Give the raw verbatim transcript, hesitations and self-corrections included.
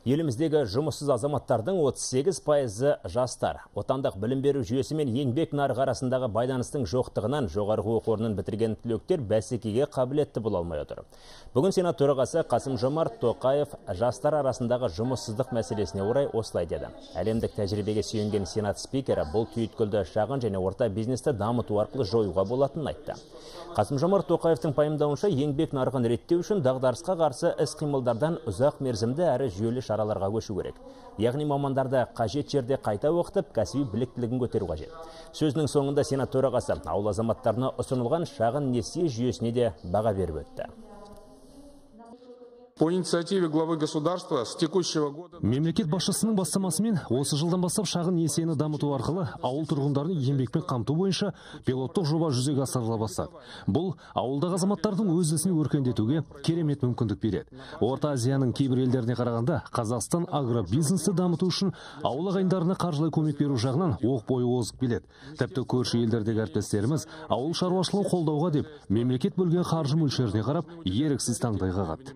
Еліміздегі жұмыссыз азаматтардың отыз сегіз пайызы жастар. Отандық білім беру жүйесі мен еңбек нарығы арасындағы байланыстың жоқтығынан жоғарғы оқу орнын бітірген түлектер бәсекеге қабілетті бола алмай отыр. Бүгін Сенат төрағасы Қасым-Жомарт Тоқаев жастар арасындағы жұмыссыздық мәселесіне орай осылай деді. Әлемдік тәжірибеге сүйенген Сенат спикері бұл түйткілді шағын және орта бизнесті дамыту арқылы жоюға болатынын айтты. Қасым-Жомарт Тоқаевтың пайымдауынша, еңбек нарығын реттеу үшін дағдарысқа қарсы іс-қимылдардан ұзақ мерзімді әрі жүйелі шараларға көшу керек. Яғни мамандарды қажет жерде қайта оқытып, кәсіби біліктілігін көтеру қажет. Сөзінің соңында Сенат төрағасы ауыл азаматтарына ұсынылған шағын несие жүйесіне де баға беріп өтті. По инициативе главы государства с текущего года... Мемлекет басшысының бастамасымен осы жылдан бастап шағын несиені дамыту арқылы ауыл тұрғындарын еңбекпен қамту бойынша пилоттық жоба жүзеге асырыла бастады. Бұл ауылдағы азаматтардың өз ісін өркендетуге керемет мүмкіндік береді. Орта Азияның кейбір елдеріне қарағанда Қазақстан агробизнесті дамыту үшін ауыл ағайындарына қаржылай көмек беру жағынан оқ бойы озық келеді. Тіпті көрші елдердегі әріптестеріміз ауыл шаруашылығын қолдауға деп мемлекет бөлген қаржы мөлшеріне қарап еріксіз таңдай қағады.